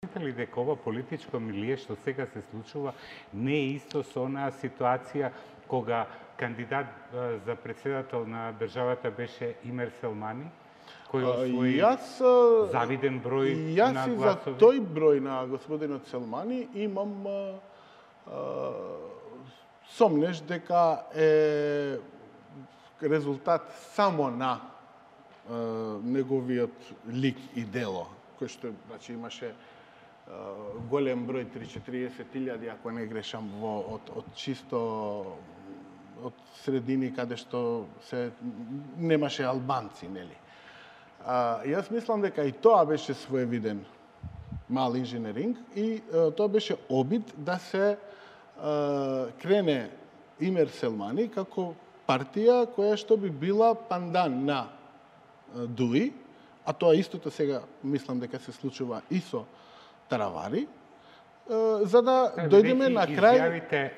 Мислите ли дека ова политичко милие што сега се случува не е исто со онаа ситуација кога кандидат за председател на државата беше Имер Селмани, кој освои завиден број на гласови? Јас и за тој број на господинот Селмани имам сомнеш дека е резултат само на неговиот лик и дело, кој што значи имаше голем број 30-40.000, ако не грешам, од чисто од средини каде што се немаше албанци, нели? Јас мислам дека и тоа беше своевиден мал инженеринг и тоа беше обид да се крене Имер Селмани како партија која што би била пандан на ДУИ, а тоа истото сега мислам дека се случува и со Таравари, за да дојдеме на крај